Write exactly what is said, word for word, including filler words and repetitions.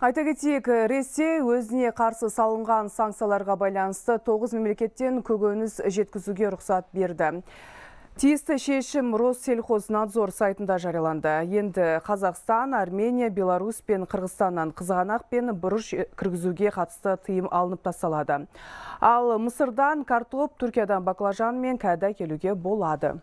Айта кетейік, Ресей өзіне қарсы салынған санкцияларға байланысты тоғыз мемлекеттен көкөніс жеткізуге рұқсат берді. Тиісті шешім Россельхознадзор сайтында жарияланды. Енді Қазақстан, Армения, Беларусь пен Қырғызстаннан қызғанақ пен бұрыш кіргізуге қатысты тыйым алынып тасталады. Ал Мысырдан картоп, Түркиядан баклажан мен кәді келуге болады.